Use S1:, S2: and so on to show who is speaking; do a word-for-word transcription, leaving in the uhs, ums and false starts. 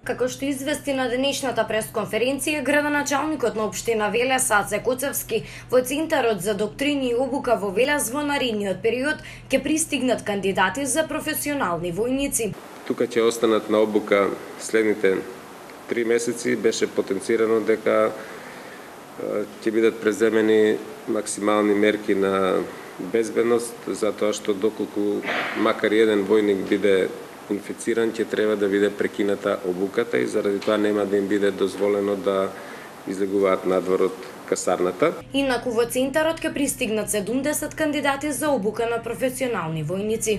S1: Како што извести на денешната пресконференција, градоначалникот на општина Велес Аце Коцевски, во Центарот за доктрини и обука во Велес во наредниот период ќе пристигнат кандидати за професионални војници.
S2: Тука ќе останат на обука следните три месеци. Беше потенцирано дека ќе бидат преземени максимални мерки на безбедност, затоа што доколку макар еден војник биде инфициран, ќе треба да биде прекината обуката и заради тоа нема да им биде дозволено да излегуваат надвор од касарната.
S1: Инаку во Центарот ќе пристигнат седумдесет кандидати за обука на професионални војници.